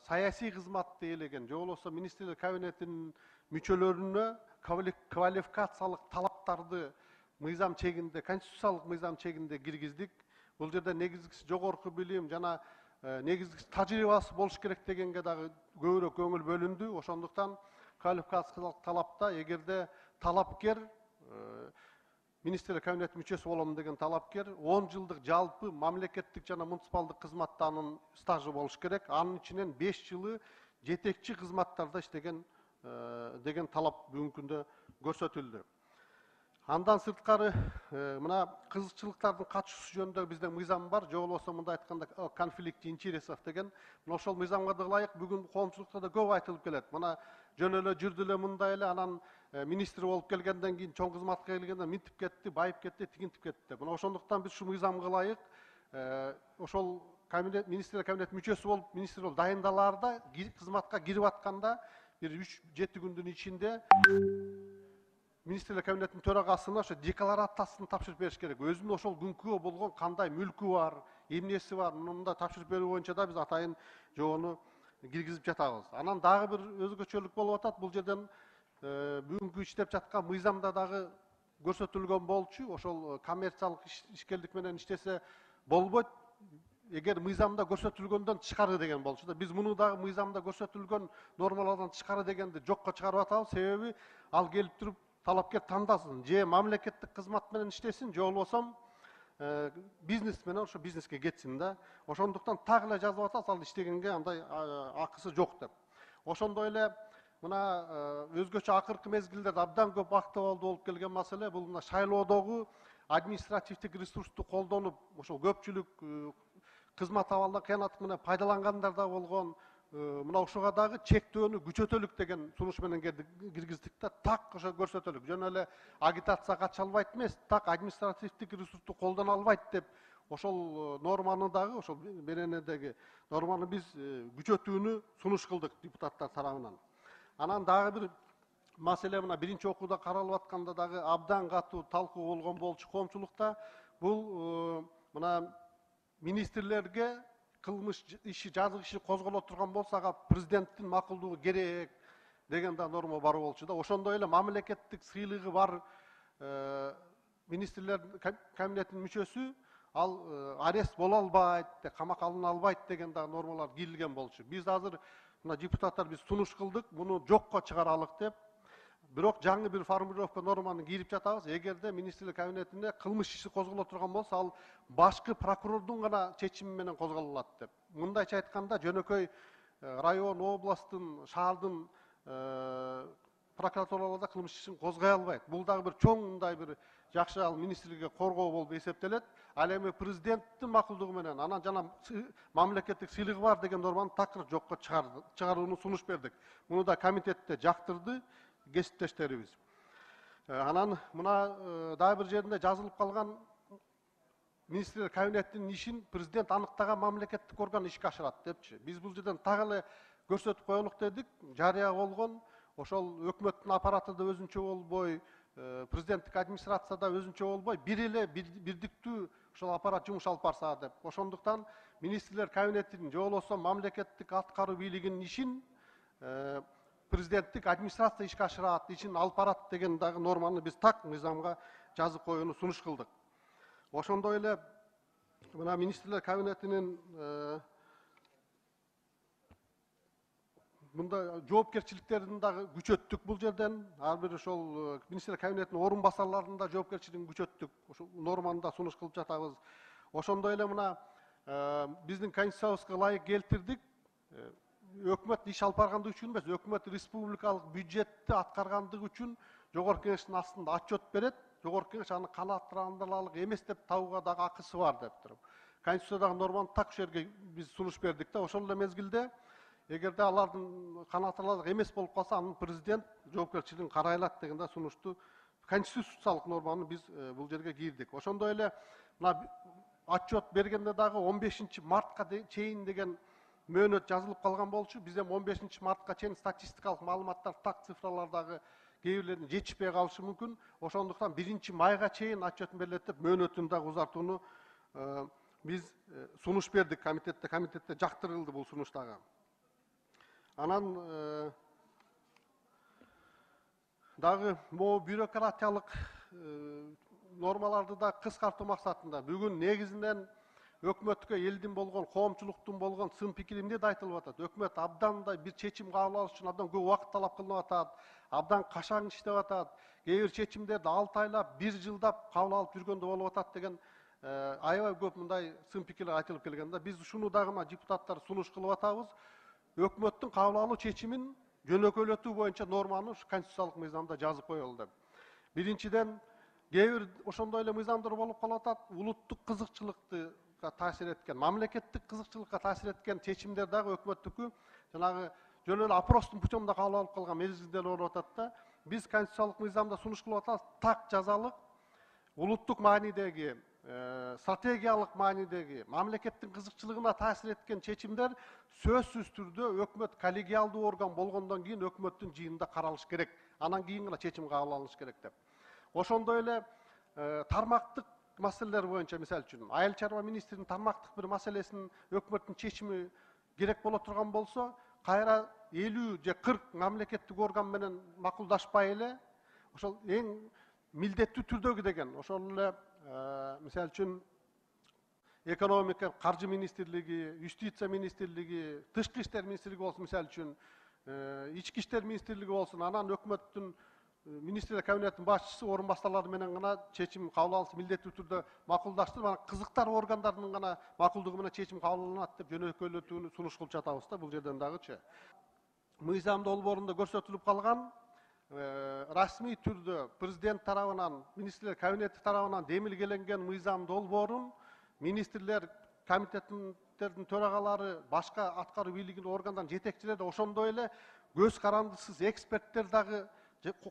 саясий кызматты ээлеген же болбосо министрлер кабинетинин мүчөлөрүнө квалификациялык талаптарды мыйзам чегинде, конституциялык мыйзам чегинде киргиздик. Бул жерде негизгиси жогорку билим жана негизгиси тажрыйбасы болуш керек дегенге дагы көбүрөөк көңүл бөлүндү. Ошондуктан квалификациялык талапта эгерде талапкер министрлер кабинети мүчөсү болом деген талапкер 10 жылдык жалпы мамлекеттик жана муниципалдык кызматта анын стажы болуш керек. Анын ичинен 5 жылы жетекчи кызматтарда иштеген деген талап бүгүнкү күндө көрсөтүлдү. Андан сырткары мына кызыкчылыктардын катышуусу жөнүндө биздин мыйзам бар. Же болбосо мындай айтканда конфликт интересов деген. Мына ошол мыйзамга да ылайык бүгүн коомчулукта да көп айтылып келет. Мына жөн эле жүрдү эле мындай эле анан министр болуп келгенден кийин чоң кызматка келгенде минтип кетти, байып кетти, тигинтип кетти. Мына ошондуктан биз ушу мыйзамга ылайык ошол министрлер кабинети мүчөсү болуп министр болуп дайындалаарда кызматка кирип атканда бир 3-7 күндүн ичинде министрлер кабинетинин төрагасына ошо декларациясын тапшырып бериш керек. Өзүнүн ошол күнкү болгон кандай мүлкү бар, эмнеси бар, мындай тапшырып берүү боюнча да биз атайын жоonu киргизип жатабыз. Анан дагы бир өзгөчөлүк болуп атат. Бул жерден бүгүнкү иштеп жаткан мыйзамда дагы көрсөтүлгөн болчу. Ошол коммерциялык ишкерлик менен иштесе болбойт. Эгер мыйзамда көрсөтүлгөндөн тышкары деген болчу да. Биз муну дагы мыйзамда көрсөтүлгөн нормалардан тышкары дегенди жокко чыгарып атабыз. Себеби ал келип туруп талапкер тандасын, же мамлекеттик кызмат менен иштесин, же болбосо бизнес менен ошо бизнеске кетсин да. Ошондуктан так эле жазып атабыз, ал иштегенге андай акысы жок деп. Ошондой эле мына өзгөчө акыркы мезгилдерде абдан көп актуалдуу болуп келген маселе бул мына шайлоодогу административдик ресурсту колдонуп, ошол көпчүлүк кызмат абалдан кыянаттык менен пайдалангандар да болгон. Мына ошого дагы чектөөнү күчөтөлүк деген сунуш менен киргиздик да. Так ошо көрсөтөлүк. Жөн эле агитацияга катыша албайт эмес, так административдик ресурсту колдоно албайт деп ошол норманы дагы, ошол беренедеги норманы биз күчөтүүнү сунуш кылдык депутаттар тарабынан. Анан дагы бир маселе мына биринчи окууда каралып атканда дагы абдан катуу талкуу болгон болчу коомчулукта. Бул мына министрлерге кылмыш иши, жазык иши козголо турган болсо ага президенттин макулдугу керек деген да норма бар болчу да. Ошондой эле мамлекеттик сыйлыгы бар министрлер кабинетинин мүчөсү ал арест боло албайт, камакка алына албайт деген да нормалар кирилген болчу. Биз азыр мына депутаттар биз сунуш кылдык, муну жокко чыгаралык деп. Бирок жаңы бир формулировка норманы кирип жатабыз. Эгерде министрлер кабинетине кылмыш иши козголо турган болсо, ал башкы прокурордун гана чечими менен козголот деп. Мындайча айтканда, жөнөкөй район, областтын, шаардын прокуратураларда кылмыш ишин козгой албайт. Бул дагы бир чоң мындай бир жакшы ал министрликке коргоо болуп эсептелет. Ал эми президенттин макулдугу менен анан жана мамлекеттик сыйлыгы бар деген норманы такыр жокко чыгарууну сунуш бердик. Муну да комитетте жактырды кесиптештерибиз. Анан мына дагы бир жеринде жазылып калган министрлер кабинетинин ишин президент аныктаган мамлекеттик орган ишке ашырат депчи. Биз бул жерден так эле көрсөтүп коелук дедик. Жарыя болгон ошол өкмөттүн аппараты да өзүнчө болбой, президенттик администрацияда өзүнчө болбой, бир эле бирдиктүү ошол аппарат жумуш алып барса деп. Ошондуктан министрлер кабинетинин же болбосо мамлекеттик аткаруу бийлигинин ишин президенттик администрация ишке ашырат, ишин алып барат деген дагы норманы биз так мыйзамга жазып коюуну сунуш кылдык. Ошондой эле мына министрлер кабинетинин мында жоопкерчиликтерин дагы күчөттүк бул жерден. Ар бир ошол министрлер кабинетинин орун басарларынын да жоопкерчилигин күчөттүк. Ошол норманы да сунуш кылып жатабыз. Ошондой эле мына биздин конституциябызга ылайык келтирдик. Өкмөт иш алып баргандыгы үчүн эмес, өкмөт республикалык бюджетти аткаргандыгы үчүн жогорку кеңештин астында отчет берет. Жогорку кеңеш аны канааттандырарлык эмес деп табууга дагы акысы бар деп туруп. Конституциядагы норманы так ошол жерге биз сунуш бердик да. Ошол эле мезгилде эгерде алардын канааттандырарлык эмес болуп калса, анын президент жоопкерчилигин карай алат деген да сунушту конституциялык норманы биз бул жерге кирдик. Ошондой эле мына отчет бергенде дагы 15 мартка чейин деген мөөнөт жазылып калган болчу. Биз эми 15 мартка чейин статистикалык маалыматтар, так цифралар дагы кээ бирлерин жетишпей калышы мүмкүн. Ошондуктан 1 майга чейин отчетун берилет деп мөөнөтүн дагы узартууну биз сунуш бердик комитетте. Комитетте жактырылды бул сунуш дагы. Анан дагы могу бюрократиялык нормаларды да кыскартуу максатында бүгүн негизинен өкмөткө элдин болгон, коомчулуктун болгон сын пикири эмне да айтылып атат. Өкмөт абдан мындай бир чечим кабыл алыш үчүн абдан көп убакыт талап кылынып атат, абдан кашаң иштеп атат, кээ бир чечимдерди 6 айлап, 1 жылдап кабыл алып жүргөндө болуп атат деген аябай көп мындай сын пикирлер айтылып келген да. Биз ушуну дагы депутаттар сунуш кылып атабыз. Өкмөттүн кабыл алуу чечимин жөнөкөйлөтүү боюнча норманы конституциялык мыйзамда жазып коелу деп. Биринчиден, кээ бир ошондой эле мыйзамдар болуп калып атат, улуттук кызыкчылыкты таасир эткен, мамлекеттик кызыкчылыкка таасир эткен чечимдер дагы өкмөттүкү жанагы жөн эле опростун путёмунда кабыл алып калган мезгилдер болуп атат да. Биз конституциялык мыйзамда сунуш кылып атабыз, так жазалык, улуттук маанидеги, стратегиялык маанидеги, мамлекеттин кызыкчылыгына таасир эткен чечимдер сөзсүз түрдө өкмөт коллегиалдуу орган болгондон кийин өкмөттүн жыйынында каралыш керек. Анан кийин гана чечим кабыл алыныш керек деп. Ошондой эле тармактык маселелер боюнча, мисалы үчүн, айыл чарба министринин тармактык бир маселесин өкмөттүн чечими керек боло турган болсо, кайра 50 же 40 мамлекеттик орган менен макулдашпай эле, ошол эң милдеттүү түрдөгү деген, ошол эле мисалы үчүн экономика, каржы министрлиги, юстиция министрлиги, тышкы иштер министрлиги болсун, мисалы үчүн, ички иштер министрлиги болсун, анан өкмөттүн министрлер кабинетинин башчысы орун басарлары менен гана чечим кабыл алынса милдеттүү түрдө макулдаштырып, анан кызыктар органдарынын гана макулдугу менен чечим кабыл алынат деп жөнөкөйлөтүүнү сунуш кылып жатабыз да бул жерден дагычы. Мыйзам долбоорунда көрсөтүлүп калган расмий түрдө президент тарабынан, министрлер кабинети тарабынан демилгеленген мыйзам долбоорун министрлер комитеттердин төрагалары, башка аткаруу бийлигинин органдарынын жетекчилери ошондой эле көз карандысыз эксперттер дагы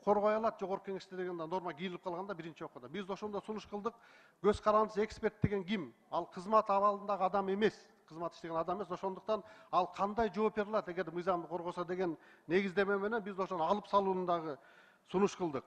коргой алат жогорку кеңеште деген норма кийилип калганда биринчи окууда. Биз ошондо сунуш кылдык. Көз карандысыз эксперт деген ким? Ал кызмат абалындагы адам эмес, кызмат иштеген адам эмес. Ошондуктан ал кандай жооп бере алат эгер мыйзамды коргосо деген негиздеме менен биз ошону алып салууну дагы сунуш кылдык.